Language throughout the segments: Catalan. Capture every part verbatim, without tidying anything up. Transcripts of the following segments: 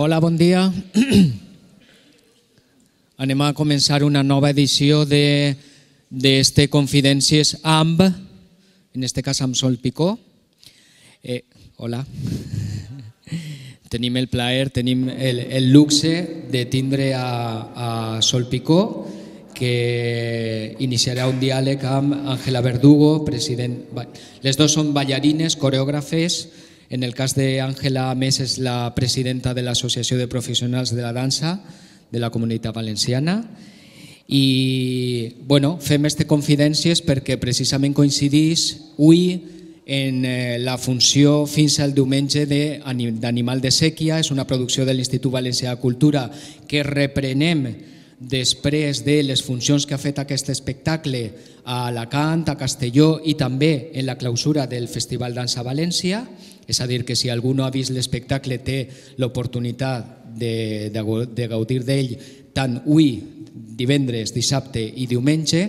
Hola, bon dia. Anem a començar una nova edició d'este Confidències amb, en este cas amb Sol Picó. Eh, hola. Tenim el plaer, tenim el, el luxe de tindre a, a Sol Picó, que iniciarà un diàleg amb Ángela Verdugo, president. Les dues són ballarines, coreògrafes. En el cas d'Àngela, a més, és la presidenta de l'Associació de Professionals de la Dansa de la Comunitat Valenciana. I bueno, fem este Confidències perquè precisament coincidís avui en la funció fins al diumenge d'Animal de Sèquia. És una producció de l'Institut Valencià de Cultura que reprenem després de les funcions que ha fet aquest espectacle a Alacant, a Castelló i també en la clausura del Festival Dansa València. És a dir, que si algú no ha vist l'espectacle té l'oportunitat de, de, de gaudir d'ell tant avui, divendres, dissabte i diumenge.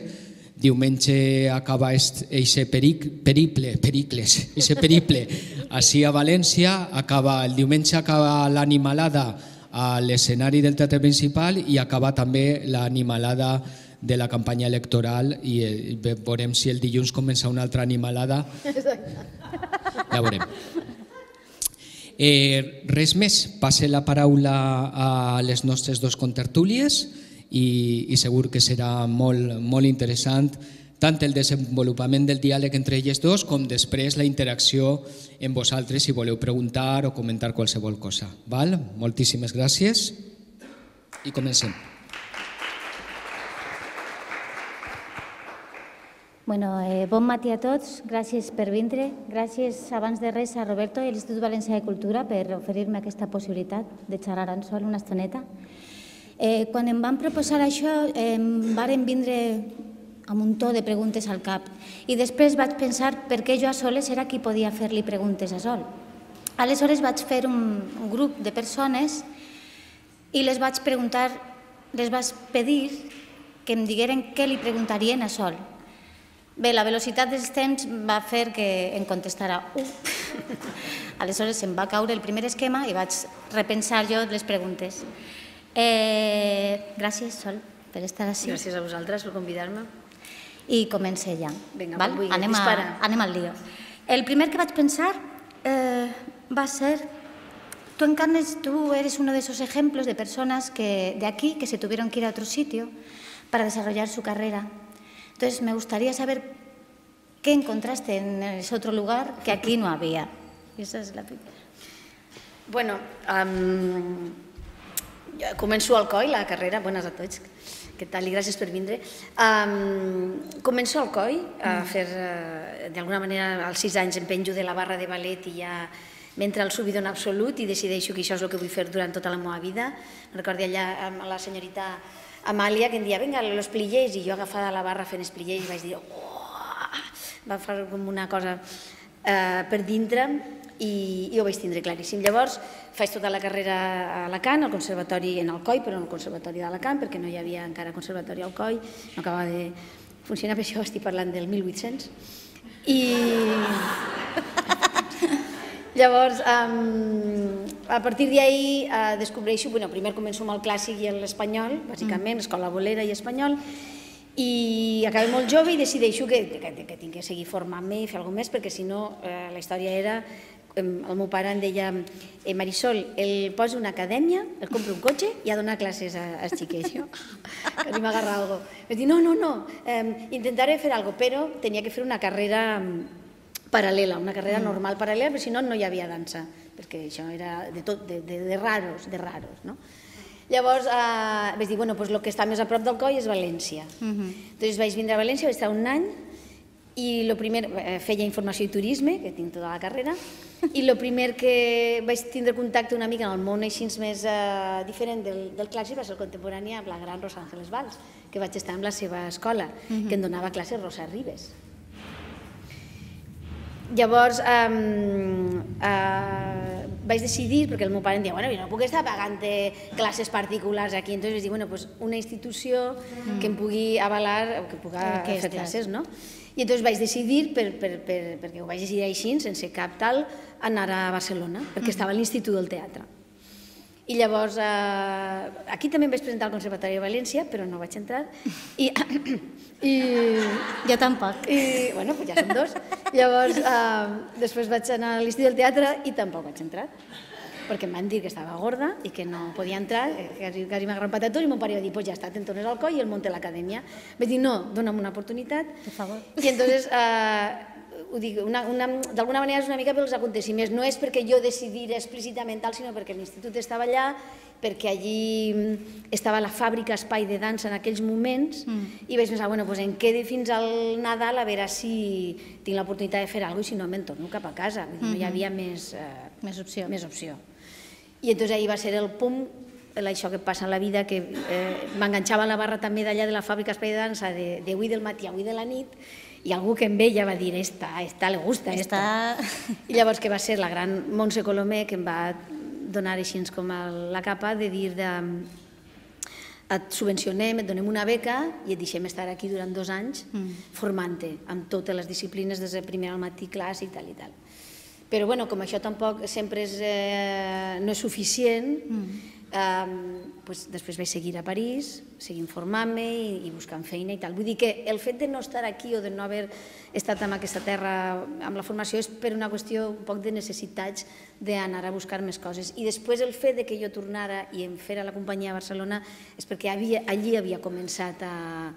Diumenge acaba aquest periple, pericles, aquest periple així a València. Acaba, el diumenge acaba l'animalada a l'escenari del Teatre Principal i acaba també l'animalada de la campanya electoral i veurem si el dilluns comença una altra animalada. Ja veurem. Eh, res més, passe la paraula a les nostres dos contertúlies i, i segur que serà molt, molt interessant tant el desenvolupament del diàleg entre elles dos com després la interacció amb vosaltres si voleu preguntar o comentar qualsevol cosa. Val? Moltíssimes gràcies i comencem. Bueno, eh, bon matí a tots, gràcies per vindre. Gràcies abans de res a Roberto i a l'Institut Valencià de Cultura per oferir-me aquesta possibilitat de xerrar en sol una estoneta. Eh, quan em van proposar això, eh, em varen vindre amb un to de preguntes al cap i després vaig pensar per què jo a soles era qui podia fer-li preguntes a Sol. Aleshores vaig fer un, un grup de persones i les vaig preguntar, les vaig pedir que em digueren què li preguntarien a Sol. Bé, la velocitat dels temps va fer que em contestara u. Aleshores em va caure el primer esquema i vaig repensar jo les preguntes. Eh, gràcies, Sol, per estar així. Gràcies a vosaltres per convidar-me. I comencé ja. Vinga, val? vull, Anem, a, dispara. anem al lío. El primer que vaig pensar eh, va ser... Tu encarnes, tú eres uno de esos ejemplos de personas que, de aquí que se tuvieron que ir a otro sitio para desarrollar su carrera. Entonces, me gustaría saber qué encontraste en ese otro lugar que aquí no había. Y esa es la primera. Bueno, um, començo al C O I, la carrera. Bones a tots. Què tal? I gràcies per vindre. Um, començo al C O I a fer, uh, d'alguna manera, als sis anys em penjo de la barra de ballet i ja m'entra el subidon absolut i decideixo que això és el que vull fer durant tota la meva vida. Recordo allà amb la senyorita Amàlia que em dia, vinga, los pliés, i jo agafada la barra fent els pliés vaig dir, oh! Va fer com una cosa eh, per dintre i, i ho vaig tindre claríssim. Llavors faig tota la carrera a Alacant, al conservatori, en el C O I, però en el conservatori d'Alacant, perquè no hi havia encara conservatori al C O I, no acabava de funcionar, per això estic parlant del mil vuit-cents. I... Llavors, um, a partir d'ahir uh, descobreixo, bueno, primer començo amb el clàssic i l'espanyol, bàsicament, escola bolera i espanyol, i acabé molt jove i decideixo que, que, que tinc que seguir formant-me i fer alguna cosa més, perquè si no, eh, la història era, eh, el meu pare em deia, eh, Marisol, el posa una acadèmia, el compra un cotxe i a donar classes als xiquets. Jo, que ni m'agarra alguna cosa. Vaig dir, no, no, no, eh, intentaré fer alguna cosa, però tenia que fer una carrera paral·lela, una carrera normal paral·lela, perquè si no, no hi havia dansa, perquè això era de, tot, de, de, de raros, de raros, no? Llavors eh, vaig dir, bueno, pues el que està més a prop del C O I és València. Uh-huh. Entonces vaig vindre a València, vaig estar un any, i lo primer, eh, feia informació i turisme, que tinc tota la carrera, i el primer que vaig tindre contacte una mica en el món així més eh, diferent del, del clàssic va ser el contemporani amb la gran Rosa Ángeles Valls, que vaig estar en la seva escola, uh-huh. que em donava classes Rosa Ribes. Llavors, um, uh, vaig decidir, perquè el meu pare em deia, bueno, jo no puc estar pagant classes particulars aquí, entonces vaig dir, bueno, pues una institució mm. que em pugui avalar, que pugui fer classes, no? I entonces vaig decidir, per, per, per, perquè ho vaig decidir així, sense cap tal, anar a Barcelona, perquè estava a l'Institut del Teatre. I llavors, aquí també em vaig presentar al Conservatori de València, però no vaig entrar. I... Jo tampoc. I, bueno, ja som dos. Llavors, després vaig anar a l'Institut del Teatre i tampoc vaig entrar, perquè em van dir que estava gorda i que no podia entrar, que quasi m'agarran patatós, i mon pare va dir, pues ja està, te'n tornes al coll i el munta a l'acadèmia. Vaig dir, no, dona'm una oportunitat. Per favor. I entonces, ho dic, d'alguna manera és una mica pels aconteciments. No és perquè jo decidira explícitament tal, sinó perquè l'institut estava allà, perquè allí estava la fàbrica Espai de Dansa en aquells moments, i vaig pensar, bueno, doncs em quedo fins al Nadal a veure si tinc l'oportunitat de fer alguna cosa i si no me'n torno cap a casa. No hi havia més opció. I entonces ahir va ser el punt, això que passa en la vida, que m'enganxava a la barra també d'allà de la fàbrica Espai de Dansa d'avui del matí a avui de la nit, i algú que em veia va dir, esta, esta le gusta, esta. I llavors que va ser la gran Montse Colomer que em va donar així com la capa de dir et subvencionem, et donem una beca i et deixem estar aquí durant dos anys formant-te amb totes les disciplines des de primer al matí, clàssic, tal i tal. Però bueno, com això tampoc sempre no és suficient, després vaig seguir a París, seguir formant-me i buscant feina i tal. Vull dir que el fet de no estar aquí o de no haver estat en aquesta terra amb la formació és per una qüestió un poc de necessitats d'anar a buscar més coses. I després el fet que jo tornara i em fera la companyia a Barcelona és perquè allí havia començat a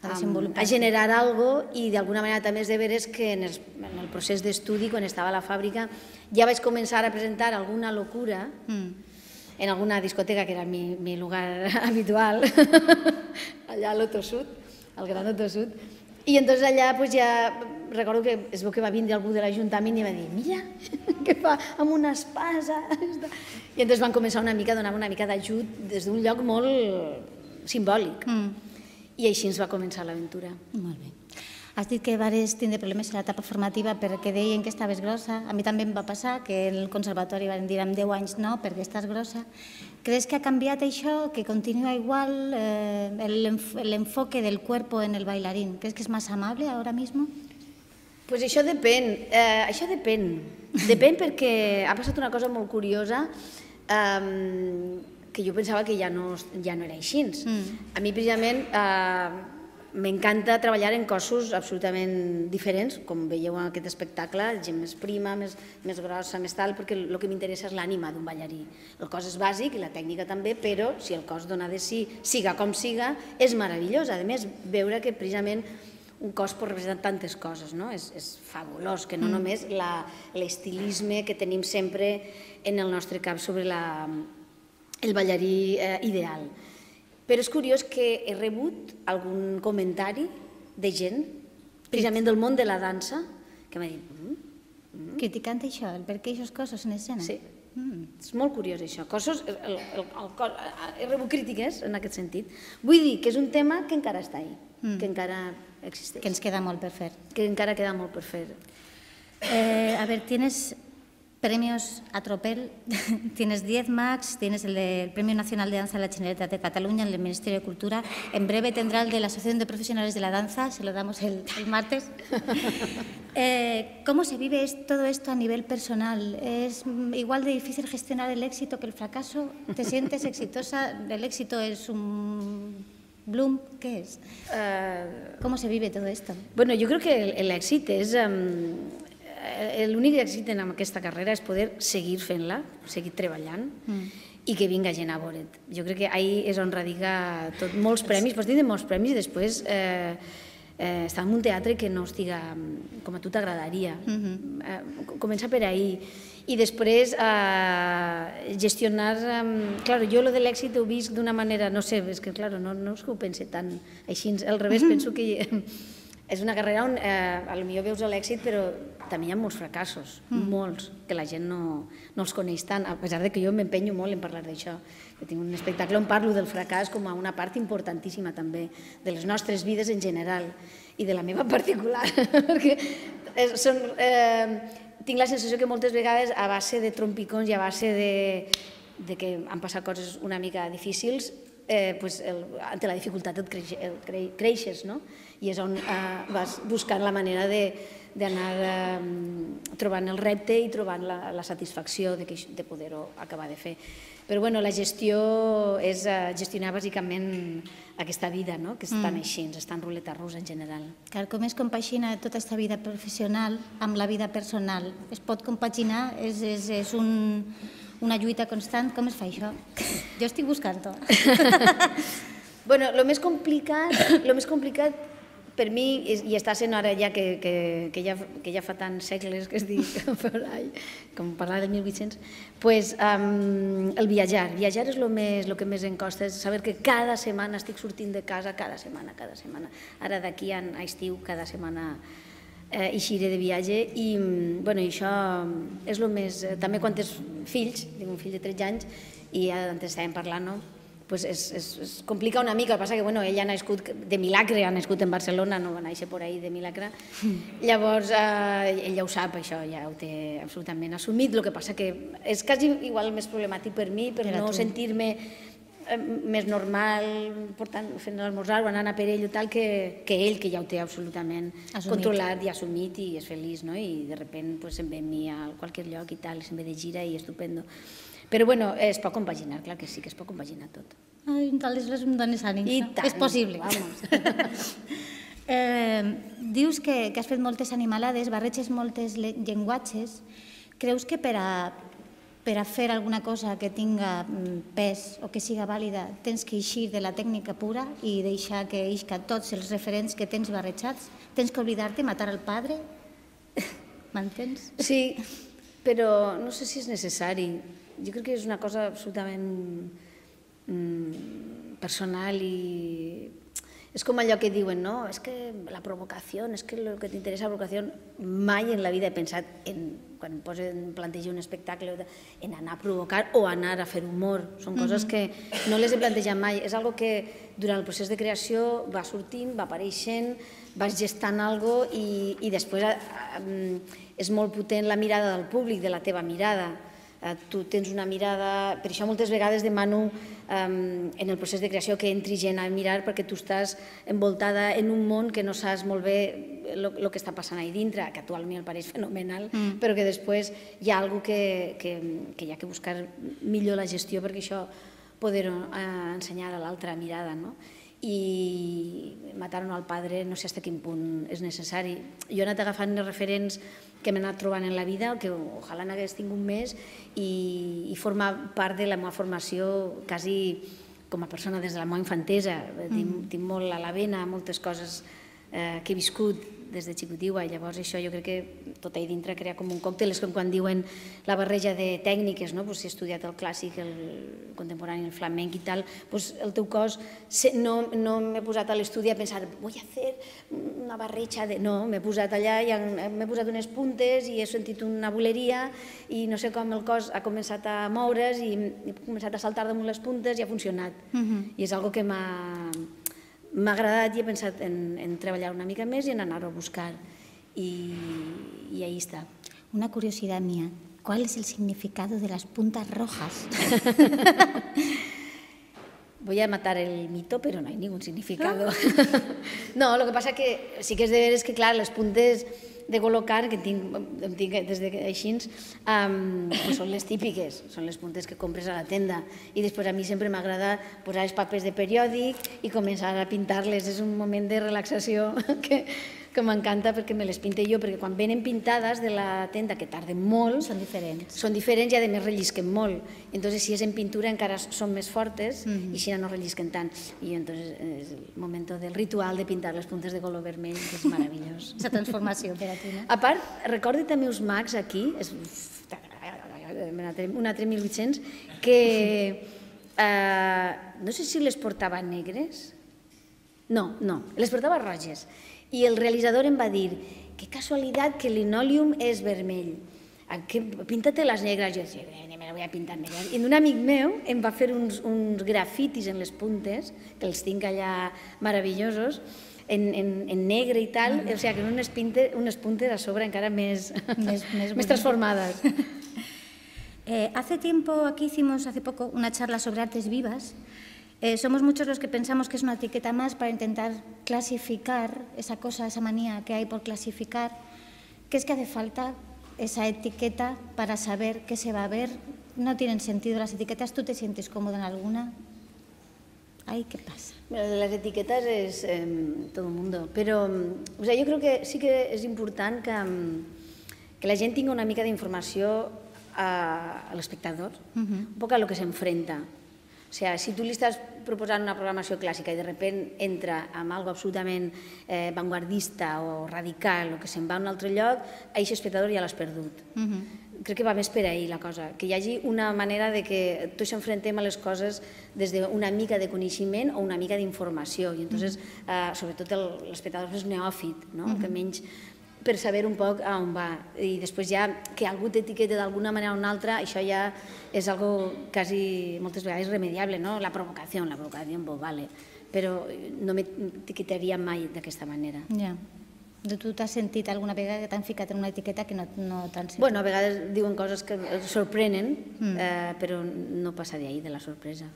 a generar alguna cosa i d'alguna manera també és de veres que en el procés d'estudi, quan estava a la fàbrica, ja vaig començar a presentar alguna locura en alguna discoteca que era mi lugar habitual, allà a l'Oto Sud, al Gran Oto Sud, i entonces allà ja recordo que es veu que va vindre algú de l'Ajuntament i va dir, mira, què fa amb una espasa. I entonces van començar una mica a donar una mica d'ajut des d'un lloc molt simbòlic. I així ens va començar l'aventura. Molt bé. Has dit que vares tindre problemes a l'etapa formativa perquè deien que estaves grossa. A mi també em va passar que el conservatori van dir amb deu anys no, perquè estàs grossa. ¿Crees que ha canviat això, que continua igual el enfoque del cuerpo en el bailarín? ¿Crees que es más amable ahora mismo? Pues això depèn, això depèn. Depèn perquè ha passat una cosa molt curiosa que jo pensava que ja no era així. A mi, precisament, m'encanta treballar en cossos absolutament diferents, com veieu en aquest espectacle, gent més prima, més grossa, més tal, perquè el que m'interessa és l'ànima d'un ballarí. El cos és bàsic i la tècnica també, però si el cos dona de si, siga com siga, és meravellós. A més, veure que precisament un cos pot representar tantes coses, no? És fabulós, que no només l'estilisme que tenim sempre en el nostre cap sobre el ballarí ideal. Però és curiós que he rebut algun comentari de gent, precisament del món de la dansa, que m'ha dit... Criticant això, el per què aquests cossos en escena? Sí, és molt curiós això. He rebut crítiques en aquest sentit. Vull dir que és un tema que encara està ahí, que encara existeix. Que ens queda molt per fer. Que encara queda molt per fer. A ver, tienes... Premios a tropel, tienes diez Max, tienes el del Premio Nacional de Danza de la Generalitat de Cataluña en el Ministerio de Cultura, en breve tendrá el de la Asociación de Profesionales de la Danza, se lo damos el martes. ¿Cómo se vive todo esto a nivel personal? ¿Es igual de difícil gestionar el éxito que el fracaso? ¿Te sientes exitosa? ¿El éxito es un bloom? ¿Qué es? ¿Cómo se vive todo esto? Bueno, yo creo que el éxito es... L'únic èxit en aquesta carrera és poder seguir fent-la, seguir treballant i que vinga gent a veure't. Jo crec que ahir és on radica tot, molts premis, pots dir molts premis i després estar en un teatre que no estiga com a tu t'agradaria. Comença per ahir. I després gestionar... Clar, jo lo de l'èxit ho visc d'una manera, no sé, és que clar, no és que ho pense tant així, al revés, penso que és una carrera on potser veus l'èxit, però també hi ha molts fracassos, molts, que la gent no els coneix tant, a pesar que jo m'empenyo molt en parlar d'això. Jo tinc un espectacle on parlo del fracàs com a una part importantíssima també de les nostres vides en general i de la meva particular, perquè tinc la sensació que moltes vegades a base de trompicons i a base de que han passat coses una mica difícils, ante la dificultat et creixes, no? I és on vas buscant la manera de d'anar trobant el repte i trobant la satisfacció de poder-ho acabar de fer. Però bueno, la gestió és gestionar bàsicament aquesta vida, que estan així, està en ruleta russa en general. Com es compagina tota aquesta vida professional amb la vida personal? Es pot compaginar? És una lluita constant? Com es fa això? Jo estic buscant-ho. Bueno, el més complicat, el més complicat per mi, i està sent ara ja que ja fa tants segles que es dic, com parlar del mil vuit-cents, doncs el viatjar. Viatjar és el que més em costa, és saber que cada setmana estic sortint de casa, cada setmana, cada setmana. Ara d'aquí a estiu, cada setmana eixiré de viatge i això és el més... També quan tens fills, tinc un fill de tretze anys i antes estàvem parlant, no? Es complica una mica, el que passa que ell ha nascut de Milagre, ha nascut en Barcelona, no va néixer per ahí de Milagre, llavors ell ja ho sap, això ja ho té absolutament assumit, el que passa que és quasi igual més problemàtic per mi, per no sentir-me més normal fent l'esmorzar o anant a per ell o tal, que ell, que ja ho té absolutament controlat i assumit i és feliç, i de sobte se'n ve amb mi a qualsevol lloc i tal, se'n ve de gira i estupendo. Però bueno, es pot compaginar, clar que sí que es pot compaginar tot. Ai, aleshores em dones ànims. I tant. És possible. Dius que has fet moltes animalades, barreges moltes llenguatges. Creus que per a fer alguna cosa que tinga pes o que siga vàlida tens que eixir de la tècnica pura i deixar que eixca tots els referents que tens barrejats? Tens que oblidar-te, matar el padre? M'entens? Sí, però no sé si és necessari. Jo crec que és una cosa absolutament personal i és com allò que diuen, no? És que la provocació, és que el que t'interessa la provocació, mai en la vida he pensat, quan plantejo un espectacle, en anar a provocar o anar a fer humor. Són coses que no les he plantejat mai. És algo que durant el procés de creació va sortint, va apareixent, vas gestant alguna cosa i després és molt potent la mirada del públic, de la teva mirada. Tu tens una mirada... Per això moltes vegades demano en el procés de creació que entri gent a mirar perquè tu estàs envoltada en un món que no saps molt bé el que està passant ahí dintre, que actualment em pareix fenomenal, però que després hi ha alguna cosa que hi ha que buscar millor la gestió perquè això poder-ho ensenyar a l'altra mirada, no? I matar-ho al padre no sé fins a quin punt és necessari. Jo he anat agafant els referents que m'he anat trobant en la vida, que ojalà n'hagués tingut més, i formar part de la meva formació quasi com a persona des de la meva infantesa. Tinc molt a la vena moltes coses que he viscut des de xicotiua, llavors això jo crec que tot ahí dintre crea com un còctel, és com quan diuen la barreja de tècniques, si he estudiat el clàssic, el contemporani, el flamenc i tal, el teu cos, no m'he posat a l'estudi a pensar, vull fer una barreja de... No, m'he posat allà i m'he posat unes puntes i he sentit una boleria i no sé com el cos ha començat a moure's i he començat a saltar damunt les puntes i ha funcionat. I és algo que m'ha... M'ha agradat i he pensat en treballar una mica més i en anar-ho a buscar. Y ahí está. Una curiosidad mía. ¿Cuál es el significado de las puntas rojas? Voy a matar el mito, pero no hay ningún significado. No, lo que pasa que sí que és de veres que, clar, les puntes de col·locar, que em tinc des de així, són les típiques, són les puntes que compres a la tenda. I després a mi sempre m'agrada posar els papers de periòdic i començar a pintar-les. És un moment de relaxació que que m'encanta perquè me les pinte jo, perquè quan venen pintades de la tenda, que tarden molt, són diferents. Són diferents i a més rellisquen molt. Entonces, si és en pintura encara són més fortes i així no rellisquen tant. I entonces és el moment del ritual de pintar les puntes de color vermell, que és meravellós. Aquesta transformació per a tu, no? A part, recordo també uns mags aquí, un altre mil vuit-cents, que no sé si les portava negres. No, no, les portava roges. I el realitzador em va dir, que casualitat que el linòleum és vermell, pinta-te les negres. Jo deia, me la voy a pintar negres. I un amic meu em va fer uns grafitis en les puntes, que els tinc allà meravellosos, en negre i tal, o sigui, que unes puntes a sobre encara més transformades. Hace tiempo, aquí hicimos hace poco una charla sobre artes vivas. Eh, somos muchos los que pensamos que es una etiqueta más para intentar clasificar esa cosa, esa manía que hay por clasificar. ¿qué es que hace falta esa etiqueta para saber qué se va a ver? ¿No tienen sentido las etiquetas? ¿Tú te sientes cómodo en alguna? Ay, ¿qué pasa? Bueno, las etiquetas es eh, todo el mundo, però o sea, jo crec que sí que és important que, que la gent tingui una mica d'informació a, a l'espectador, uh-huh. un poc a lo que s'enfrenta. O sea, si tu li estàs proposant una programació clàssica i de repente entra amb algo absolutament eh, vanguardista o radical o que se'n va a un altre lloc, aquest espectador ja l'has perdut. Uh-huh. Crec que va més per ahir la cosa, que hi hagi una manera de que tots s'enfrontem a les coses des d'una mica de coneixement o una mica d'informació, i entonces, eh, sobretot l'espectador és neòfit, no? Que menys per saber un poc a on va, i després ja que algú t'etiqueta d'alguna manera o una altra, això ja és algo quasi moltes vegades irremediable, no? La provocació, la provocació, pues vale, però no m'etiquetaria mai d'aquesta manera. Ja. Tu t'has sentit alguna vegada que t'han ficat en una etiqueta que no, no t'han sentit? Bueno, a vegades diuen coses que sorprenen, mm. eh, però no passa de ahí, de la sorpresa.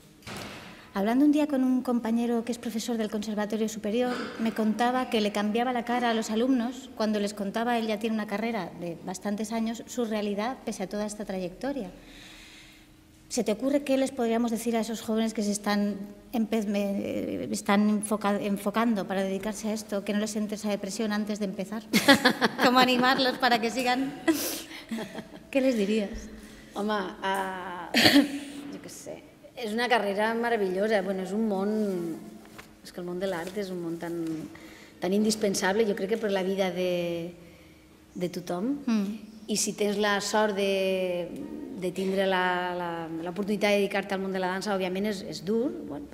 Hablando un día con un compañero que es profesor del Conservatorio Superior, me contaba que le cambiaba la cara a los alumnos cuando les contaba, él ya tiene una carrera de bastantes años, su realidad pese a toda esta trayectoria. ¿Se te ocurre qué les podríamos decir a esos jóvenes que se están, están enfoca, enfocando para dedicarse a esto, que no les entre esa depresión antes de empezar? ¿Cómo animarlos para que sigan? ¿Qué les dirías? Home, uh, jo què sé, és una carrera meravellosa, bueno, és un món, és que el món de l'art és un món tan, tan indispensable, jo crec que per la vida de, de tothom, mm. i si tens la sort de, de tindre l'oportunitat de dedicar-te al món de la dansa, òbviament és, és dur, bueno,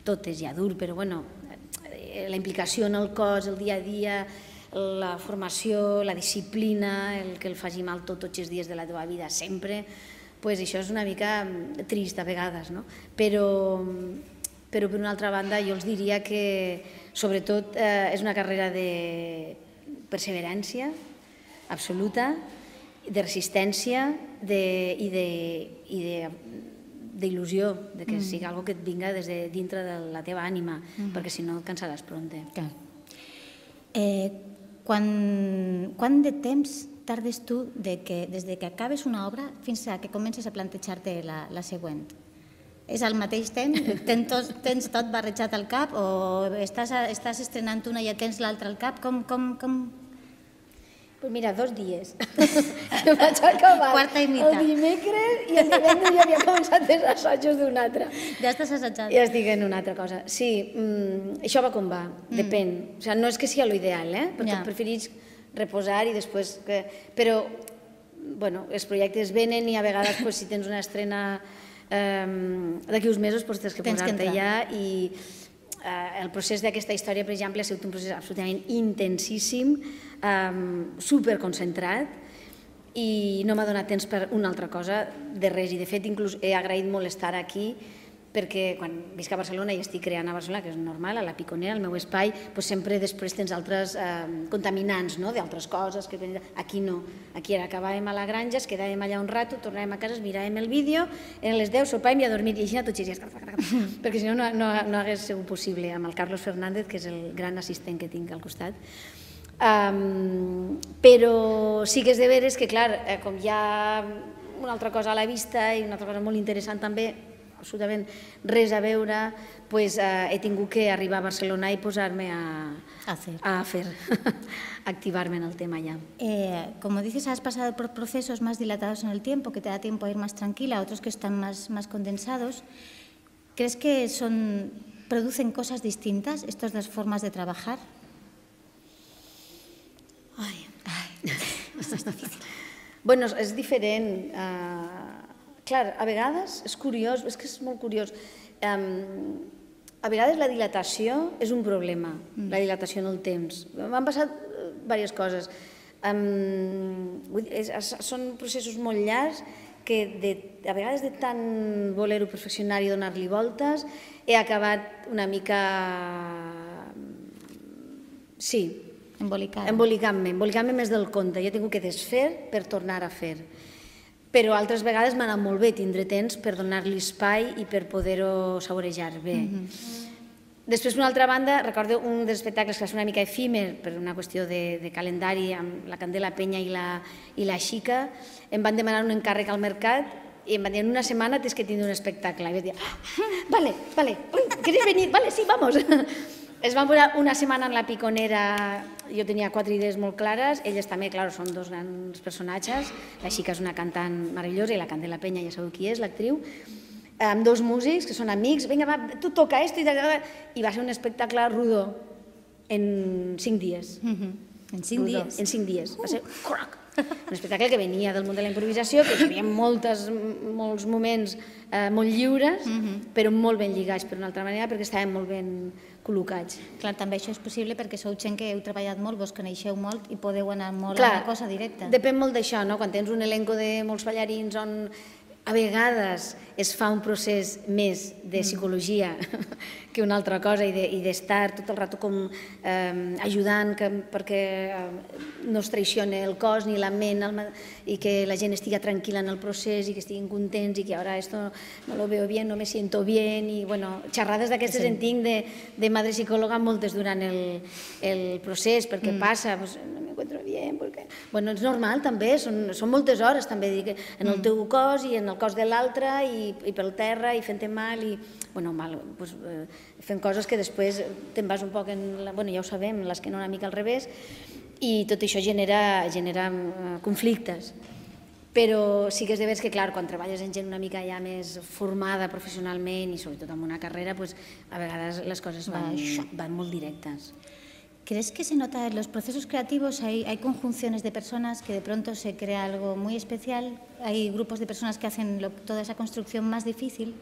tot és ja dur, però bueno, la implicació en el cos, el dia a dia, la formació, la disciplina, el que el faci mal tot, tots els dies de la teva vida, sempre, pues això és una mica trist a vegades, no? Però, però per una altra banda jo els diria que sobretot eh, és una carrera de perseverància absoluta, de resistència de, i d'il·lusió, de, de, de que mm. sigui algo que et vinga des de dintre de la teva ànima, mm. perquè si no et cansaràs pronte. Clar. Eh, quan, quant de temps tardes tu de que, des de que acabes una obra fins a que comences a plantejar-te la, la següent? És al mateix temps? Tens tot, tens tot barrejat al cap o estàs, estàs estrenant una i ja tens l'altra al cap? Com... com, com... Pues mira, dos dies. Jo vaig acabar Quarta i mitja. El dimecres i el divendres ja havia començat els assajos d'un altre. Ja estàs assajant. Ja estic en una altra cosa. Sí, mm, això va com va, mm. depèn. O sea, no és que sigui l'ideal, eh? Perquè ja. Preferís reposar i després... Que... Però, bueno, els projectes venen i a vegades pues, si tens una estrena eh, d'aquí uns mesos pues, tens que posar-te ja i eh, el procés d'aquesta història, per exemple, ha sigut un procés absolutament intensíssim, Um, superconcentrat i no m'ha donat temps per una altra cosa de res, i de fet inclús he agraït molt estar aquí perquè quan visc a Barcelona i estic creant a Barcelona, que és normal, a la Piconera, al meu espai, doncs sempre després tens altres eh, contaminants, no?, d'altres coses, que aquí no, aquí ara acabàvem a la granja, es quedàvem allà un rato, tornàvem a casa, miràvem el vídeo, eren les deu, sopàvem i a dormir, i així a tots els dies, perquè si no, no, no hagués sigut possible, amb el Carlos Fernández, que és el gran assistent que tinc al costat. Um, però sí que és de veres que, clar, eh, com hi ha una altra cosa a la vista i una altra cosa molt interessant també, absolutament res a veure, pues, eh, he tingut que arribar a Barcelona i posar-me a, a fer, a fer. activarme en el tema ya. Eh, como dices, has pasado por procesos más dilatados en el tiempo, que te da tiempo a ir más tranquila, otros que están más, más condensados. ¿Crees que son, producen cosas distintas estas dos formas de trabajar? Ai, ai, això és difícil. Bueno, és diferent. Uh, clar, a vegades és curiós, és que és molt curiós. Um, a vegades la dilatació és un problema, mm. la dilatació en el temps. M'han passat diverses coses. Um, és, són processos molt llargs que de, a vegades de tant voler-ho perfeccionar i donar-li voltes he acabat una mica... Sí, embolicant-me, embolicant-me més del compte. Jo he tingut que desfer per tornar a fer. Però altres vegades m'ha anat molt bé tindre temps per donar-li espai i per poder-ho saborejar bé. Després, per una altra banda, recordo un dels espectacles que va ser una mica efímer per una qüestió de, de calendari amb la Candela Penya i la, i la Xica. Em van demanar un encàrrec al mercat i em van dir, en una setmana tens que tindre un espectacle. I vaig dir, ah, vale, vale, ¿queréis venir? Vale, sí, vamos. Es van posar una setmana en la Piconera, jo tenia quatre idees molt clares, elles també, clar, són dos grans personatges, la Xica és una cantant meravellosa i la Candela Penya ja sabeu qui és, l'actriu, amb dos músics que són amics, vinga, va, tu toca esto, i va ser un espectacle rodó en cinc dies. En cinc dies? En cinc dies. Va ser un espectacle que venia del món de la improvisació, que hi havia molts moments molt lliures, però molt ben lligats per una altra manera, perquè estaven molt ben col·locats. Clar, també això és possible perquè sou gent que heu treballat molt, vos coneixeu molt i podeu anar molt a la cosa directa. Depèn molt d'això, no? Quan tens un elenco de molts ballarins on a vegades es fa un procés més de psicologia que una altra cosa i d'estar tot el rato com ajudant perquè no es traicioni el cos ni la ment i que la gent estigui tranquil·la en el procés i que estiguin contents i que ara esto no lo veo bien, no me siento bien i bueno, xerrades d'aquestes en tinc de madre psicòloga moltes durant el procés perquè passa, no me encuentro bien, perquè... Bueno, és normal també, són moltes hores també en el teu cos i en el cos de l'altre i pel terra i fent-te mal i fent coses que després te'n vas un poc, bueno ja ho sabem, l'esquena una mica al revés i tot això genera conflictes. Però sí que és de veres que, clar, quan treballes en gent una mica ja més formada professionalment i sobretot en una carrera, a vegades les coses van molt directes. ¿Crees que se nota en los procesos creativos? Hay, hay conjunciones de personas que de pronto se crea algo muy especial, hay grupos de personas que hacen lo, toda esa construcción más difícil.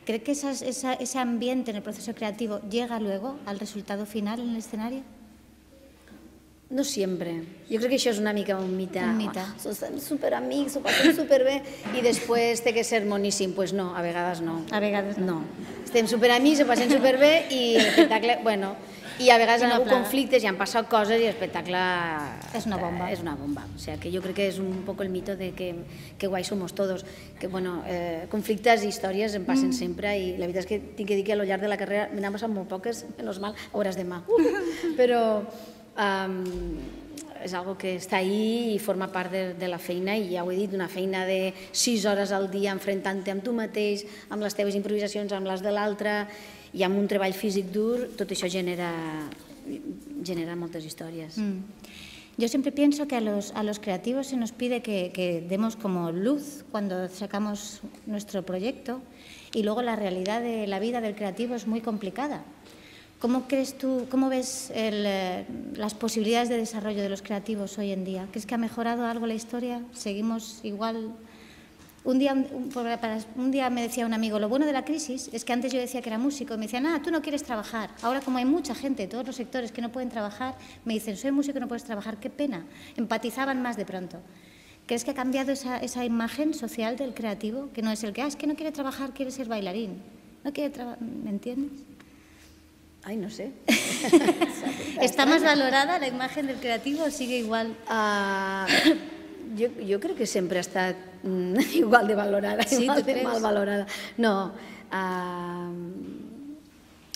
¿Crees que esas, esa, ese ambiente en el proceso creativo llega luego al resultado final en el escenario? No sempre. Jo crec que això és una mica un mite. Un mite. Oh, som superamics, ho passem superbé i després té que ser moníssim. Doncs pues no, a vegades no. A vegades no. No. Estem superamics, ho passem superbé i l'espectacle, bueno... I a vegades en algun conflictes i han passat coses i l'espectacle és una bomba. És una bomba. O sea, que jo crec que és un poc el mito de que, que guai somos todos. Que, bueno, eh, conflictes i històries em passen mm. sempre i la veritat és que tinc que dir que al llarg de la carrera me n'han passat molt poques, menos mal, hores de mà. Uh, però um, és algo que està ahí i forma part de, de la feina i ja ho he dit, una feina de sis hores al dia enfrontant-te amb tu mateix, amb les teves improvisacions, amb les de l'altre, i amb un treball físic dur, tot això genera, genera moltes històries. Mm. Yo siempre pienso que a los, a los creativos se nos pide que, que demos como luz cuando sacamos nuestro proyecto y luego la realidad de la vida del creativo es muy complicada. ¿Cómo crees tú, cómo ves el, eh, las posibilidades de desarrollo de los creativos hoy en día? ¿Crees que ha mejorado algo la historia? ¿Seguimos igual? Un día, un, un día me decía un amigo, lo bueno de la crisis es que antes yo decía que era músico y me decían, ah, tú no quieres trabajar. Ahora como hay mucha gente de todos los sectores que no pueden trabajar, me dicen, soy músico y no puedes trabajar, qué pena. Empatizaban más de pronto. ¿Crees que ha cambiado esa, esa imagen social del creativo? Que no es el que, ah, es que no quiere trabajar, quiere ser bailarín. No quiere trabajar, ¿me entiendes? Ay, no sé. ¿Está más valorada la imagen del creativo o sigue igual? Uh, jo, jo crec que sempre ha estat mm, igual de valorada, sí, igual de mal valorada. No, uh,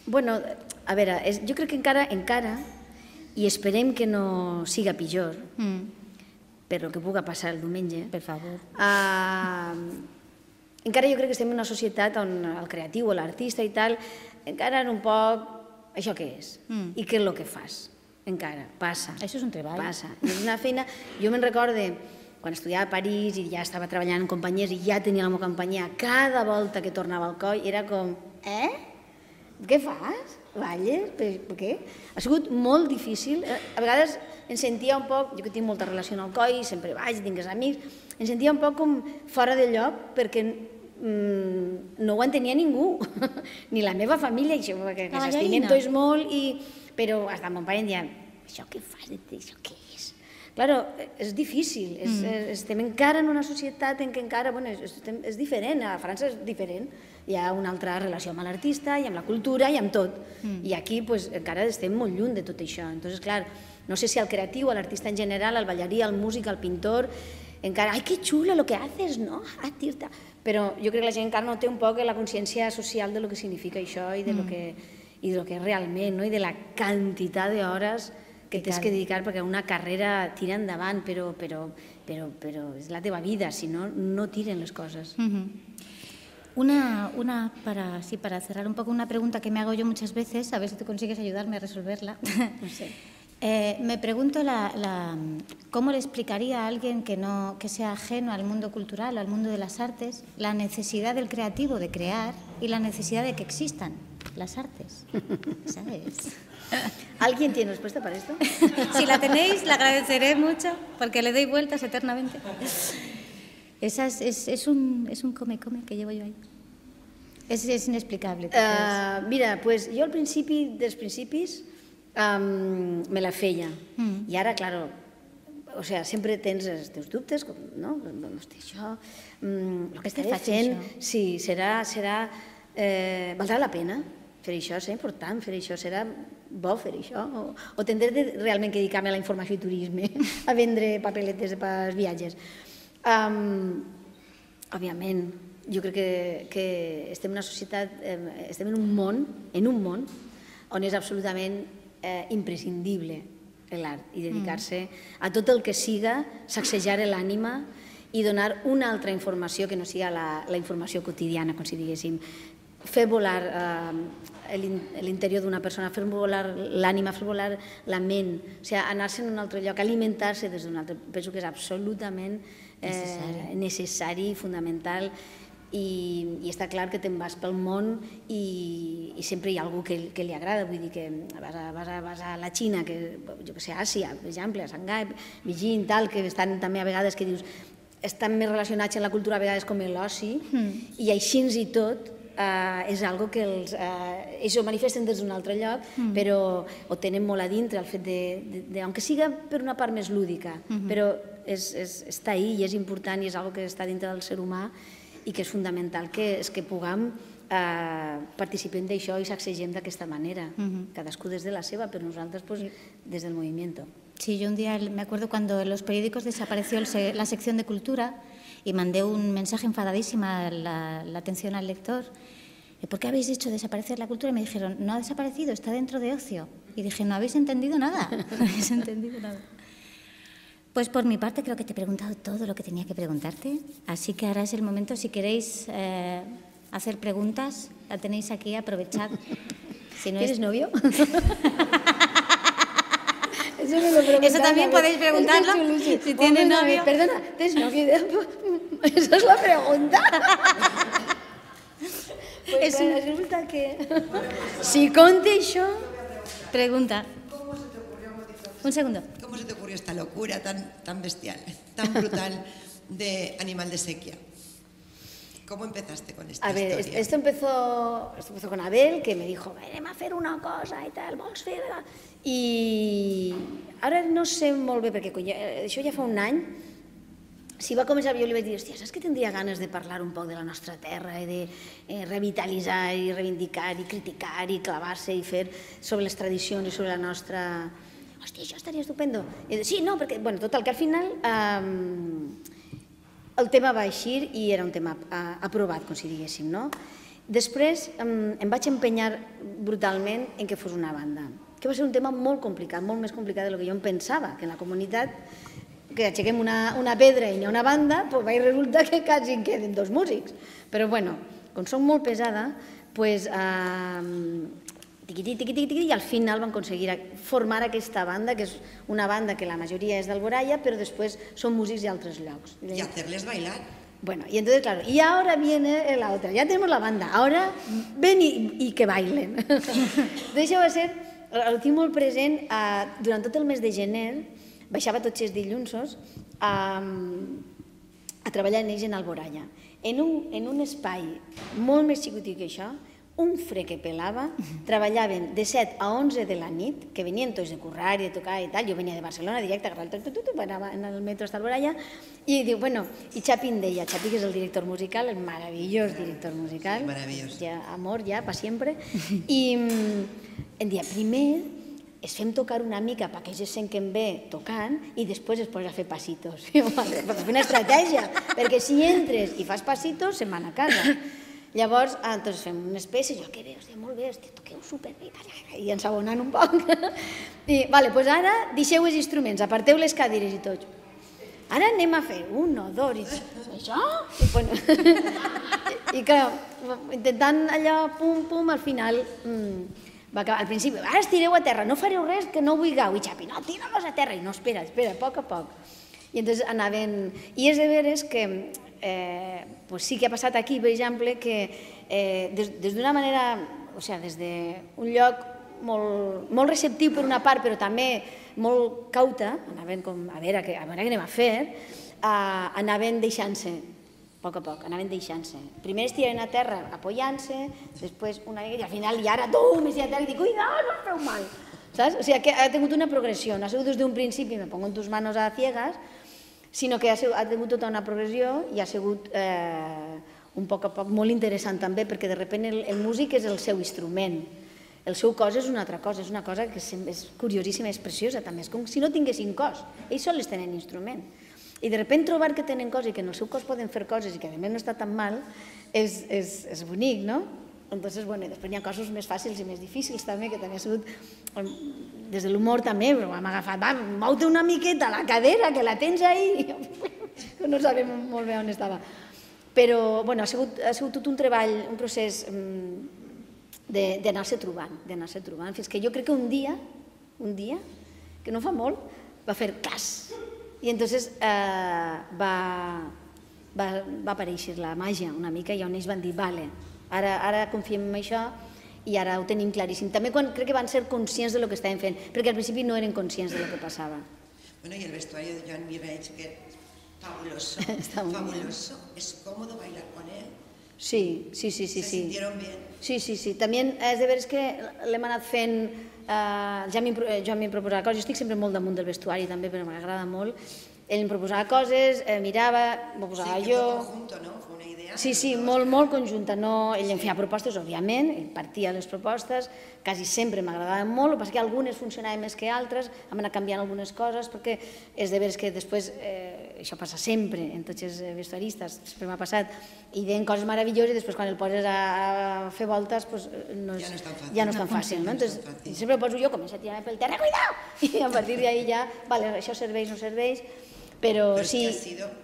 bueno, a veure, és, jo crec que encara, encara, i esperem que no siga pitjor, mm. per el que puga passar el diumenge, per favor. Uh, encara jo crec que estem en una societat on el creatiu o l'artista i tal, encara en un poc, això què és? Mm. I què és el que fas? Encara, passa. Això és un treball. Passa. I és una feina... Jo me'n recorde quan estudiava a París i ja estava treballant en companyies i ja tenia la meva companyia, cada volta que tornava al coll era com, eh? Què fas? Balles? Per què? Ha sigut molt difícil. A vegades em sentia un poc, jo que tinc molta relació amb el coll, sempre vaig, tinc els amics, em sentia un poc com fora de lloc perquè no ho entenia ningú, ni la meva família, que s'estimen tots molt, però fins mon pare em deia, això què fas, això què és? Claro, és difícil, estem encara en una societat en què encara, bueno, és diferent, a França és diferent, hi ha una altra relació amb l'artista i amb la cultura i amb tot, i aquí encara estem molt lluny de tot això, entonces, clar, no sé si el creatiu, l'artista en general, el ballarí, el músic, el pintor, encara, ai, que xulo lo que haces, no? Ah, tio, però jo crec que la gent encara no té un poc la consciència social de lo que significa això i de lo que i del que realment, no? I de la quantitat d'hores que tens que dedicar perquè una carrera tira endavant, però, però, però, però és la teva vida, si no, no tiren les coses. Una, una para, sí, para cerrar un poco, una pregunta que me hago yo muchas veces, a ver si tú consigues ayudarme a resolverla. No sé. Eh, me pregunto la, la, cómo le explicaría a alguien que, no, que sea ajeno al mundo cultural o al mundo de las artes la necesidad del creativo de crear y la necesidad de que existan las artes, ¿sabes? ¿Alguien tiene respuesta para esto? Si la tenéis, la agradeceré mucho porque le doy vueltas eternamente. Esa es, es, es un es un come-come que llevo yo ahí. És, és inexplicable. Uh, mira, pues, jo al principi dels principis um, me la feia. Mm. I ara, claro, o sea, sempre tens els teus dubtes, com, no? Hosti, això, um, el que estaré fent, sí, serà, serà, eh, valdrà la pena fer això, serà important fer això, serà bo fer això, o, o tindré de realment que dedicar-me a la informació i turisme, a vendre papeletes pels viatges. Um, òbviament, jo crec que, que estem en una societat, eh, estem en un món, en un món on és absolutament eh, imprescindible l'art i dedicar-se a tot el que siga sacsejar l'ànima i donar una altra informació que no siga la, la informació quotidiana, com si diguéssim. Fer volar eh, l'interior d'una persona, fer volar l'ànima, fer volar la ment, o sigui, anar-se en un altre lloc, alimentar-se des d'un altre. Penso que és absolutament eh, necessari, fundamental, i, i està clar que te'n vas pel món i, i sempre hi ha algú que, que li agrada, vull dir que vas a, vas a, vas a la Xina, que, jo que sé, Àsia, per exemple, a Shanghai, Beijing, tal, que estan també a vegades que dius, estan més relacionats en la cultura a vegades com l'oci, mm. i així i tot, Uh, és algo que els, uh, ells ho manifesten des d'un altre lloc, mm. però ho tenen molt a dintre, el fet de, de, de, aunque siga per una part més lúdica, mm-hmm. però és, és, està ahí i és important i és algo que està dintre del ser humà i que és fundamental que, és que puguem uh, participem d'això i sacsegem d'aquesta manera, mm-hmm. cadascú des de la seva, però nosaltres pues, des del movimiento. Sí, yo un día me acuerdo cuando en los periódicos desapareció el, la sección de cultura y mandé un mensaje enfadadísima a la, la atención al lector. ¿Por qué habéis hecho desaparecer la cultura? Y me dijeron, no ha desaparecido, está dentro de ocio. Y dije, no habéis entendido nada, no habéis entendido nada. Pues por mi parte creo que te he preguntado todo lo que tenía que preguntarte, así que ahora es el momento, si queréis eh, hacer preguntas, la tenéis aquí, aprovechad. Si no ¿Tienes es... novio? Eso, Eso también podéis preguntarlo, si tiene novio. Perdona, ¿tienes novio? Esa es la pregunta. Pues bueno, resulta que... Si conté això... Pregunta. Un segundo. ¿Cómo se te ocurrió esta locura tan, tan bestial, tan brutal de Animal de Sequia? ¿Cómo empezaste con esta a ver, historia? Esto empezó, esto empezó con Abel, que me dijo, anem a fer una cosa i tal, vols fer... I ara no sé molt bé, perquè això ja fa un any, si va començar, jo li vaig dir, hòstia, saps que tindria ganes de parlar un poc de la nostra terra i de eh, revitalitzar i reivindicar i criticar i clavar-se i fer sobre les tradicions i sobre la nostra... Hòstia, això estaria estupendo. I sí, no, perquè, bueno, total, que al final eh, el tema va eixir i era un tema eh, aprovat, com si diguéssim, no? Després eh, em vaig empenyar brutalment en que fos una banda, que va ser un tema molt complicat, molt més complicat del que jo em pensava, que en la comunitat que aixequem una, una pedra i hi ha una banda, doncs vaig resulta que quasi en queden dos músics. Però bueno, com som molt pesada, doncs eh, tiqui, tiqui, tiqui, tiqui, i al final van aconseguir formar aquesta banda, que és una banda que la majoria és d'Alboraya, però després són músics d'altres llocs. I hacerles bailar. Bueno, y entonces, claro, y ahora viene la otra, ya tenemos la banda, ahora ven y, y que bailen. Entonces això va ser, ho tinc molt present, eh, durant tot el mes de gener, baixava tots els dilluns a, a treballar en ells en Alboraya. En un, en un espai molt més xicotit que això, un fred que pelava, treballaven de set a onze de la nit, que venien tots de currar i de tocar i tal, jo venia de Barcelona directe, agafava el tot, tot, tot, anava en el metro hasta Alboraya, i diu, bueno, i Xapi em deia, Xapi que és el director musical, el meravellós director musical, sí, meravellós. Ja, amor, ja, pa sempre, i em dia, primer es fem tocar una mica perquè ells es senten bé tocant i després es posa a fer passitos. Per fer una estratègia, perquè si entres i fas passitos, se'n van a casa. Llavors, doncs fem unes peces, jo que bé, hòstia, molt bé, hòstia, toqueu superbé, i ensabonant un poc. I, vale, doncs ara deixeu els instruments, aparteu les cadires i tot. Ara anem a fer un o dos, i això? I, bueno, i clar, intentant allò, pum, pum, al final, va acabar, al principi, ara estireu a terra, no fareu res que no vulgueu, i Xapi, no, tira-los a terra, i no, espera, espera, a poc a poc. I entonces anaven, i és de veres que Eh, pues sí que ha passat aquí, per exemple, que eh, des, des d'una manera, o sigui, des d'un lloc molt, molt receptiu per una part, però també molt cauta, anaven com, a veure, a veure què anem a fer, eh, anaven deixant-se, a poc a poc, anaven deixant-se. Primer es tiraven a terra apoyant-se, després una mica, i al final, i ara, tum, es tira a terra i dic, cuidao, no us feu mal. Saps? O sigui, que ha tingut una progressió, no ha sigut des d'un principi, me pongo en tus manos a ciegas, sinó que ha tingut tota una progressió i ha sigut un poc a poc molt interessant també, perquè de sobte el músic és el seu instrument, el seu cos és una altra cosa, és una cosa que és curiosíssima, és preciosa també, és com si no tinguessin cos, ells sols tenen instrument. I de sobte trobar que tenen cos i que en el seu cos poden fer coses i que a més no està tan mal, és bonic, no? Entonces, bueno, després hi ha coses més fàcils i més difícils també, que també ha sigut, des de l'humor també, però hem agafat, va, mou-te una miqueta la cadera, que la tens ahí, que no sabem molt bé on estava. Però, bueno, ha sigut tot un treball, un procés d'anar-se trobant, d'anar-se trobant, fins que jo crec que un dia, un dia, que no fa molt, va fer cas. I entonces va aparèixer la màgia una mica i on ells van dir, vale, ara confiem en això i ara ho tenim claríssim. També quan crec que van ser conscients del que estaven fent, perquè al principi no eren conscients del que passava. Bueno, y el vestuario de Joan Miralles, que es fabuloso, fabuloso. Es cómodo bailar con él. Sí, sí, sí. ¿Se sintieron bien? Sí, sí, sí. També és de veres que l'hem anat fent, Joan m'hi proposava coses, jo estic sempre molt damunt del vestuari també, però m'agrada molt. Ell em proposava coses, mirava, m'ho posava jo... Sí, que fue conjunto, ¿no? Fue una idea. Sí, sí, molt, molt conjunta. Ell em feia propostes, òbviament, ell partia les propostes, quasi sempre m'agradaven molt, el que passa que algunes funcionaven més que altres, hem anat canviant algunes coses, perquè és de veres que després, això passa sempre, en tots els vestuaristes, sempre m'ha passat, i deien coses meravelloses i després quan el poses a fer voltes ja no és tan fàcil. Sempre ho poso jo, començo a tirar-me pel terra, cuidao! I a partir d'ahí ja, vale, això serveix, no serveix, però sí... Pero es que ha sido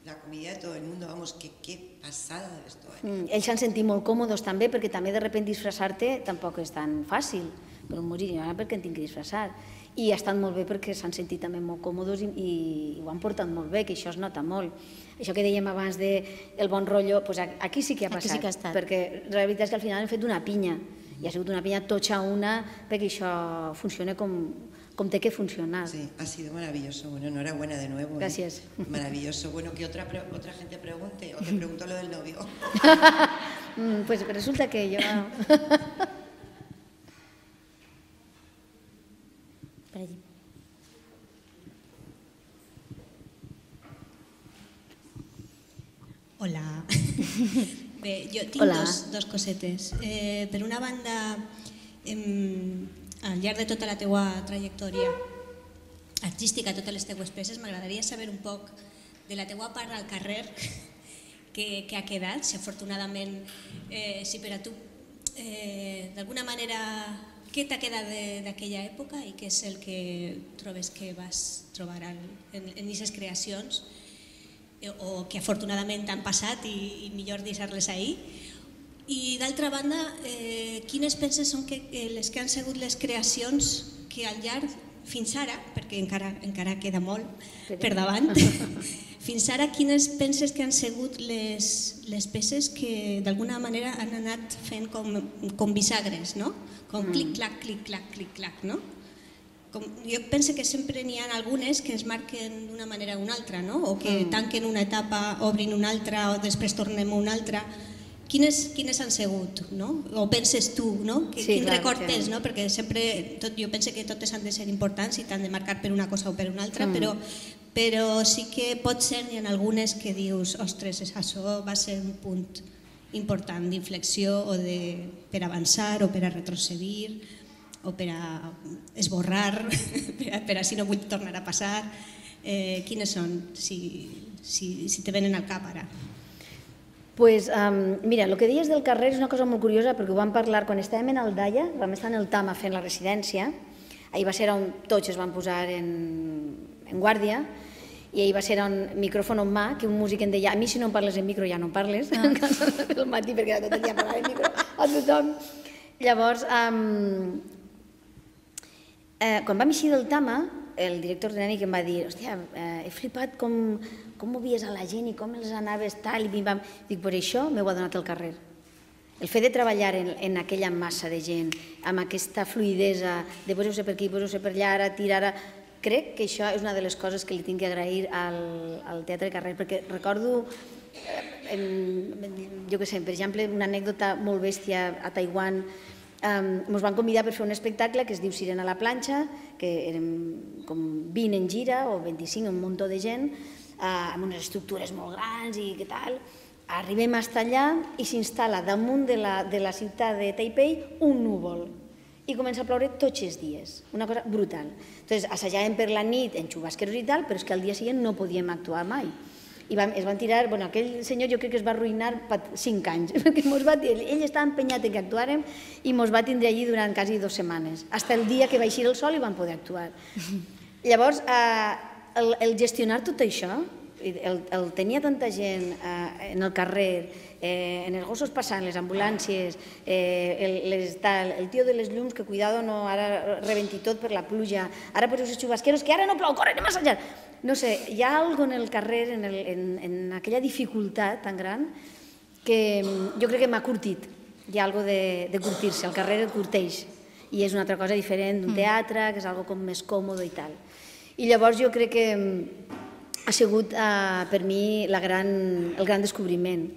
la comida de todo el mundo, vamos, que qué pasada de vestuari. Ells s'han sentit molt còmodes també, perquè també de sobte disfressar-te tampoc és tan fàcil, per un músic, ara perquè en tinc que disfressar. I ha estat molt bé perquè s'han sentit també molt còmodes i ho han portat molt bé, que això es nota molt. Això que dèiem abans del bon rotllo, aquí sí que ha passat, perquè la veritat és que al final hem fet una pinya, i ha sigut una pinya totxa una, perquè això funciona com... como te que funcionar. Sí, ha sido maravilloso. Bueno, enhorabuena de nuevo. Gracias. ¿eh? Maravilloso. Bueno, que otra, otra gente pregunte, o te pregunto lo del novio. Pues resulta que yo... Hola. Bé, jo tinc Hola. dos, dos cosetes. Eh, per una banda, eh, al llarg de tota la teua trajectòria artística, totes les teues peces, m'agradaria saber un poc de la teua part al carrer que, que ha quedat, si afortunadament, eh, si per a tu, eh, d'alguna manera, què t'ha quedat d'aquella època i què és el que trobes que vas trobar en aquestes creacions o que afortunadament han passat i, i millor deixar-les ahir. I d'altra banda, eh, quines penses són que, eh, les que han sigut les creacions que al llarg, fins ara, perquè encara, encara queda molt per davant, fins ara quines penses que han sigut les, les peces que d'alguna manera han anat fent com, com bisagres, no? Com clic-clac, clic-clac, clic-clac, no? Com, jo penso que sempre n'hi ha algunes que es marquen d'una manera o una altra, no? O que tanquen una etapa, obrin una altra o després tornem a una altra. Quines, quines han sigut, no? O penses tu, no? Que, Sí, quin clar, record que- tens, no? Perquè sempre, tot, jo penso que totes han de ser importants i t'han de marcar per una cosa o per una altra, però, però sí que pot ser, n'hi ha algunes que dius, ostres, això va ser un punt important d'inflexió o de, per avançar o per a retrocedir o per a esborrar, per a, per a si no vull tornar a passar. Eh, quines són, si, si, si te venen al cap ara? Pues, um, mira, el que deies del carrer és una cosa molt curiosa perquè ho vam parlar quan estàvem en Aldaia, vam estar en el Tama fent la residència, ahir va ser on tots es van posar en, en guàrdia i ahir va ser on micròfon en mà, que un músic em deia, a mi si no em parles en micro ja no em parles, ah. el matí perquè tot el dia parlava en micro a tothom. Llavors, um, eh, quan vam eixir del Tama, el director tècnic em va dir, hòstia, eh, he flipat com, com movies a la gent i com els anaves tal, i bim-bam. Dic, per això m'ho ha donat el carrer. El fet de treballar en, en aquella massa de gent, amb aquesta fluidesa de poseu-se per aquí, poseu-se per allà, ara, tira, ara... Crec que això és una de les coses que li tinc que agrair al, al Teatre Carrer, perquè recordo, eh, jo què sé, per exemple, una anècdota molt bèstia a Taiwan. Ens van convidar per fer un espectacle que es diu Sirena a la planxa, que érem com vint en gira o vint-i-cinc, un muntó de gent, amb unes estructures molt grans i què tal. Arribem fins allà i s'instal·la damunt de la, de la ciutat de Taipei un núvol i comença a ploure tots els dies, una cosa brutal. Entonces, assajàvem per la nit en xubasqueros i tal, però és que al dia següent no podíem actuar mai. I vam, es van tirar, bueno, aquell senyor jo crec que es va arruïnar cinc anys, perquè mos va, ell estava empenyat en que actuàrem i mos va tindre allí durant quasi dues setmanes, fins el dia que va eixir el sol i vam poder actuar. Llavors, eh, el, el gestionar tot això, el, el tenia tanta gent eh, en el carrer, eh, en els gossos passant, les ambulàncies, eh, el, les, tal, el tio de les llums, que cuidado, no, ara rebenti tot per la pluja, ara poseu els xubasqueros, que ara no plou, corre, anem a assajar. No sé, hi ha alguna cosa en el carrer, en, el, en, en aquella dificultat tan gran, que jo crec que m'ha curtit. Hi ha alguna cosa de, de curtir-se, el carrer el curteix, i és una altra cosa diferent d'un teatre, que és algo com més còmode i tal. I llavors jo crec que ha sigut eh, per mi la gran, el gran descobriment,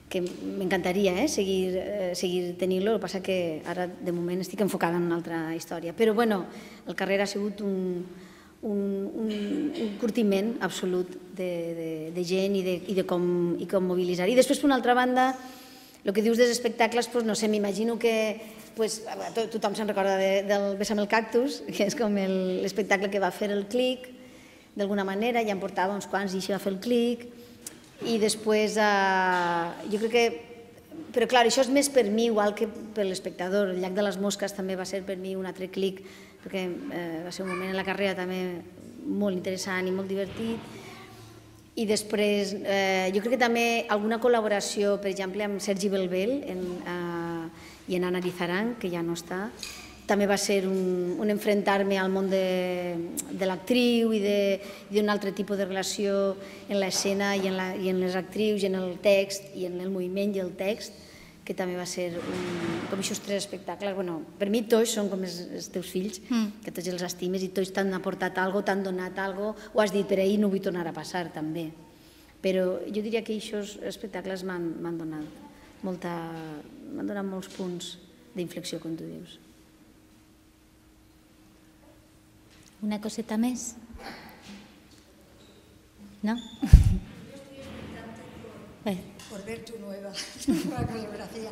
que m'encantaria eh, seguir, eh, seguir tenint-lo, el que passa que ara de moment estic enfocada en una altra història. Però bueno, el carrer ha sigut un... Un, un, un curtiment absolut de, de, de gent i de, i de com, i com mobilitzar. I després, per una altra banda, el que dius dels espectacles, doncs, no sé, m'imagino que pues, to, tothom se'n recorda de, del Besa'm el cactus, que és com l'espectacle que va fer el Clic, d'alguna manera, ja em portava uns quants i així va fer el Clic, i després, eh, jo crec que... Però clar, això és més per mi, igual que per l'espectador. El Llac de les Mosques també va ser per mi un altre clic, perquè eh, va ser un moment en la carrera també molt interessant i molt divertit. I després, eh, jo crec que també alguna col·laboració, per exemple, amb Sergi Belbel en, eh, i en Ana Arizarán, que ja no està, també va ser un, un enfrontar-me al món de, de l'actriu i d'un altre tipus de relació en l'escena i, en la, i en les actrius i en el text i en el moviment i el text, que també va ser un, com aquests tres espectacles. Bueno, per mi tots són com els, els teus fills, mm. que tots els estimes i tots t'han aportat alguna cosa, t'han donat alguna cosa, ho has dit per ahir, no vull tornar a passar també. Però jo diria que aquests espectacles m'han donat, molta, m'han donat molts punts d'inflexió, com tu dius. Una coseta més? ¿No? Por ver tu nueva, nueva coreografía.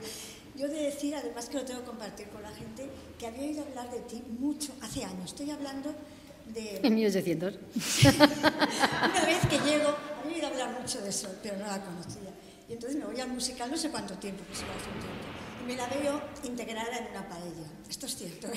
Yo he de decir, además que lo tengo que compartir con la gente, que había oído hablar de ti mucho, hace años. Estoy hablando de... En mil ochocientos. Una vez que llego, había oído hablar mucho de eso, pero no la conocía. Y entonces me voy al musical, no sé cuánto tiempo, pues igual hace un tiempo. Y me la veo integrada en una paella. Esto es cierto.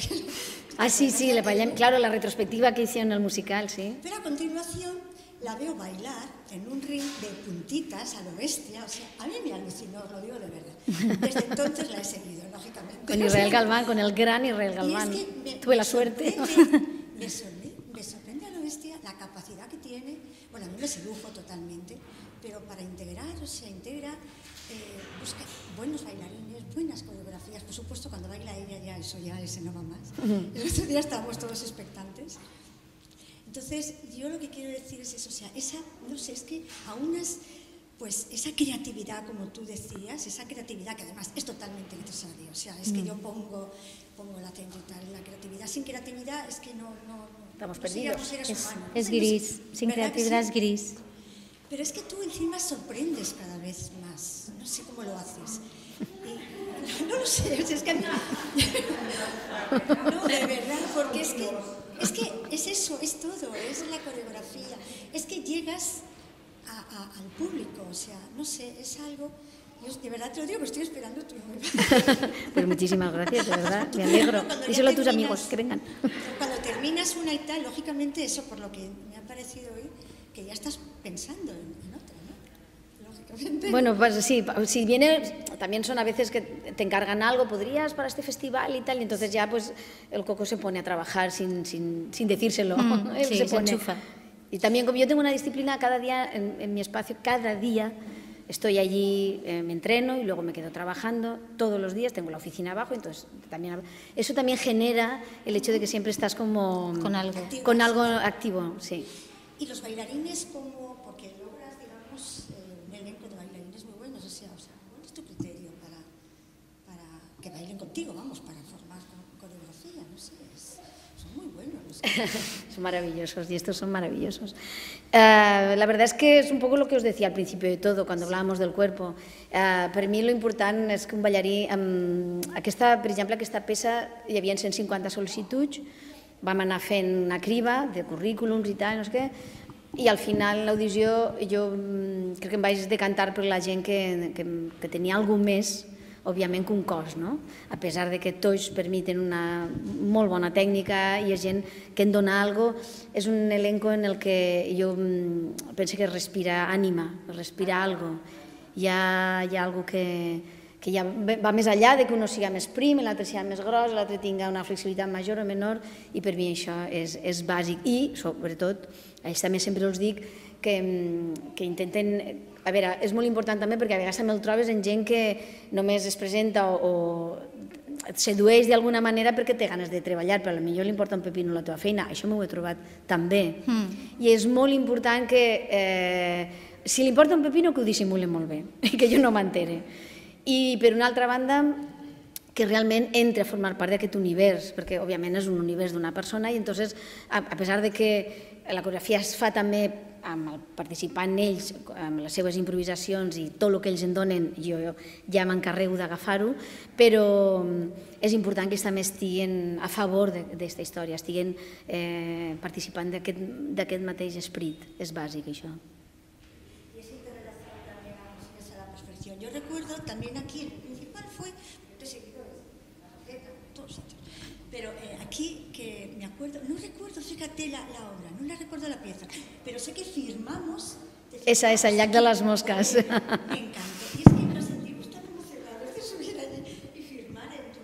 Ah, sí, sí, la paella, claro, la retrospectiva que hicieron en el musical, sí. Pero a continuación la veo bailar en un ring de puntitas a lo bestia. O sea, a mí me alucinó, lo digo de verdad. Desde entonces la he seguido, lógicamente. Con Israel Galván, con el gran Israel Galván. Y es que me, Tuve la me suerte. Sorprende, me, sorprende, me sorprende a lo bestia la capacidad que tiene. Bueno, a mí me sedujo totalmente, pero para integrar, o sea, integra, eh, busca buenos bailarines, buenas coreografías. Por supuesto, cuando baila ella ya eso ya ese no va más. Uh-huh. El otro día estábamos todos expectantes. Entonces, yo lo que quiero decir es eso, o sea, esa, no sé, es que a unas, pues esa creatividad, como tú decías, esa creatividad que además es totalmente necesaria, o sea, es que yo pongo, pongo el acento y tal, la creatividad, sin creatividad es que no, no, estamos no perdidos, seres es, humanos. es gris, sin creatividad sí? es gris. Pero es que tú encima sorprendes cada vez más, no sé cómo lo haces. Y, no, no lo sé, es que a mí... No, de verdad, porque es que, es que es eso, es todo, es la coreografía. Es que llegas a, a, al público, o sea, no sé, es algo Yo de verdad te lo digo, que estoy esperando tu número. Pues muchísimas gracias, de verdad, me alegro. Díselo a tus amigos, que vengan. Cuando terminas una y tal, lógicamente eso, por lo que me ha parecido hoy, que ya estás pensando en, en otra, ¿no? Lógicamente. Bueno, pues sí, si viene, también son a veces que te encargan algo, podrías para este festival y tal, y entonces ya pues el Coco se pone a trabajar sin, sin, sin decírselo. Mm, ¿eh? sí, se se pone. enchufa. Y también como yo tengo una disciplina cada día en, en mi espacio, cada día estoy allí, eh, me entreno y luego me quedo trabajando todos los días, tengo la oficina abajo, entonces también eso también genera el hecho de que siempre estás como Con algo. con algo activo, sí. Y los bailarines, como, porque logras, digamos, eh, un elenco de bailarines muy buenos, o sea, o sea, ¿cuál es tu criterio para, para que bailen contigo, vamos, para formar coreografía? No sé, es, son muy buenos. No sé. Son maravillosos y estos son maravillosos. Uh, la verdad es que és un poc el que us decía al principio de todo, cuando hablábamos del cuerpo. Uh, per mi lo important és que un ballarí, um, aquesta, per exemple, aquesta peça hi havia cent cinquanta sol·licituds, vam anar fent una criba de currículums i tal, no sé què, i al final l'audició jo um, crec que em vaig decantar per la gent que, que, que tenia alguna més, òbviament, que un cos, no? A pesar de que tots permiten una molt bona tècnica i és gent que en dona alguna cosa, és un elenco en el que jo penso que respira ànima, respira alguna cosa. Hi ha, hi ha alguna cosa que, que ja va més enllà de que un siga més prim, l'altre siga més gros, l'altre tinga una flexibilitat major o menor, i per mi això és, és bàsic. I, sobretot, ells també sempre els dic que, que intenten... A veure, és molt important també perquè a vegades també el trobes en gent que només es presenta o, o et sedueix d'alguna manera perquè té ganes de treballar, però potser li importa un pepino la teva feina. Això m'ho he trobat també. Mm. I és molt important que, eh, si li importa un pepino, que ho dissimule molt bé, i que jo no m'entere. I per una altra banda, que realment entre a formar part d'aquest univers, perquè òbviament és un univers d'una persona i entonces, a, a pesar de que la coreografia es fa també amb el participant ells, amb les seves improvisacions i tot el que ells en donen, jo ja m'encarrego d'agafar-ho, però és important que ells també estiguen a favor d'aquesta història, estiguen eh, participant d'aquest mateix esperit. És bàsic, això. Y esa interrelación también es a la perfección. Yo recuerdo también aquí, el principal fue, yo te he seguido en la letra, en todos sitios, pero eh, aquí que me acuerdo, no recuerdo, fíjate la, la obra, no la recuerdo la pieza, pero sé que firmamos... Esa es el llac de les mosques. Me encantó. Y es que nos sentimos tan emocionados de subir allí y firmar en tu...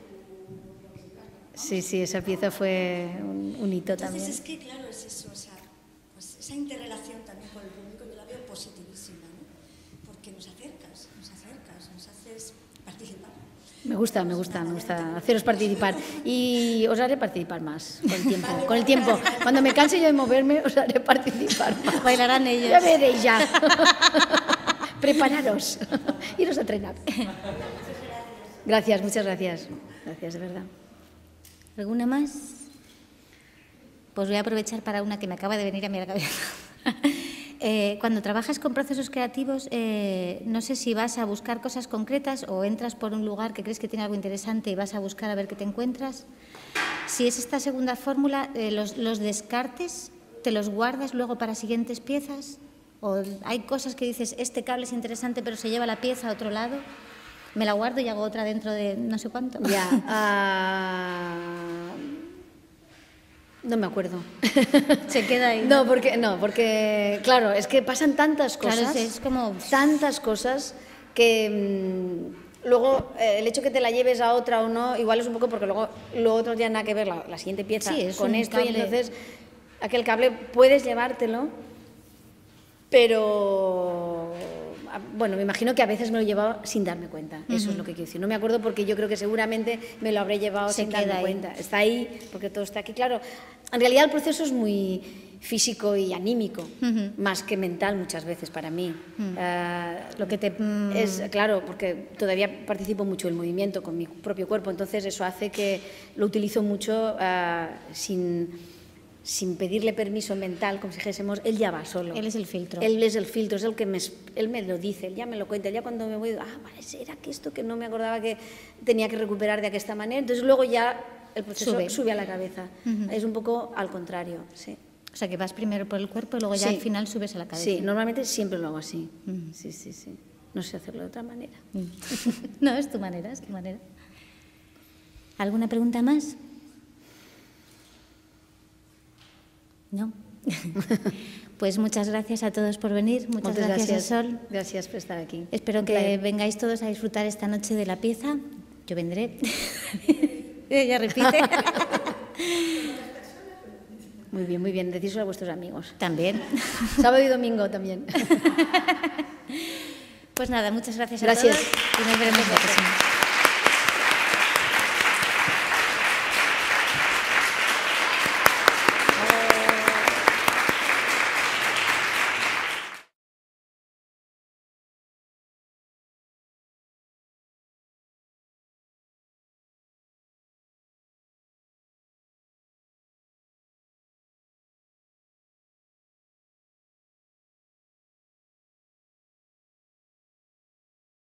Sí, sí, esa pieza fue un, un hito Entonces, también. es que, claro, es eso, o sea, pues esa interrelación también con el público yo la veo positivísima, ¿no? Porque nos acercas, nos acercas, nos haces participar. Me gusta, me gusta, me gusta haceros participar y os haré participar más con el tiempo. Con el tiempo, cuando me canse yo de moverme, os haré participar más. Bailarán ellos. Ya veréis ya. Prepararos. Iros a entrenar. Gracias, muchas gracias. Gracias, de verdad. ¿Alguna más? Pues voy a aprovechar para una que me acaba de venir a mi cabeza. Eh, cuando trabajas con procesos creativos, eh, no sé si vas a buscar cosas concretas o entras por un lugar que crees que tiene algo interesante y vas a buscar a ver qué te encuentras. Si es esta segunda fórmula, eh, los, los descartes, ¿te los guardas luego para siguientes piezas? ¿O hay cosas que dices, este cable es interesante pero se lleva la pieza a otro lado? Me la guardo y hago otra dentro de no sé cuánto. Ya. Uh... No me acuerdo. Se queda ahí. No, porque, no, porque, claro, es que pasan tantas cosas, Claro, es como... tantas cosas que mmm, luego eh, el hecho que te la lleves a otra o no, igual es un poco porque luego lo otro ya nada que ver, la, la siguiente pieza Sí, es con un esto cable. Y entonces aquel cable puedes llevártelo, pero... Bueno, me imagino que a veces me lo he llevado sin darme cuenta, eso uh-huh. es lo que quiero decir. No me acuerdo porque yo creo que seguramente me lo habré llevado Se sin darme ahí. cuenta. Está ahí porque todo está aquí. Claro, en realidad el proceso es muy físico y anímico, uh-huh. más que mental muchas veces para mí. Uh-huh. Uh, lo que te... Mm, es, claro, porque todavía participo mucho del movimiento con mi propio cuerpo, entonces eso hace que lo utilizo mucho uh, sin... sin pedirle permiso mental, como si dijésemos, él ya va solo. Él es el filtro. Él es el filtro, es el que me, él me lo dice, él ya me lo cuenta, ya cuando me voy, ah, vale, era que esto que no me acordaba que tenía que recuperar de aquesta manera, entonces luego ya el proceso sube, sube a la cabeza. Uh-huh. Es un poco al contrario, sí. O sea, que vas primero por el cuerpo y luego ya sí. al final subes a la cabeza. Sí, normalmente siempre lo hago así. Uh-huh. Sí, sí, sí. no sé hacerlo de otra manera. No, es tu manera, es tu manera. ¿Alguna pregunta más? No. Pues muchas gracias a todos por venir, muchas Moltes gracias, gràcies. a Sol. Gràcies per estar aquí. Espero Un que plaer. vengáis todos a disfrutar esta noche de la pieza. Yo vendré. Ella repite. Muy bien, muy bien. Decíselo a vuestros amigos. También. Sábado y domingo también. Pues nada, muchas gracias a Gracias. todos y nos veremos la próxima.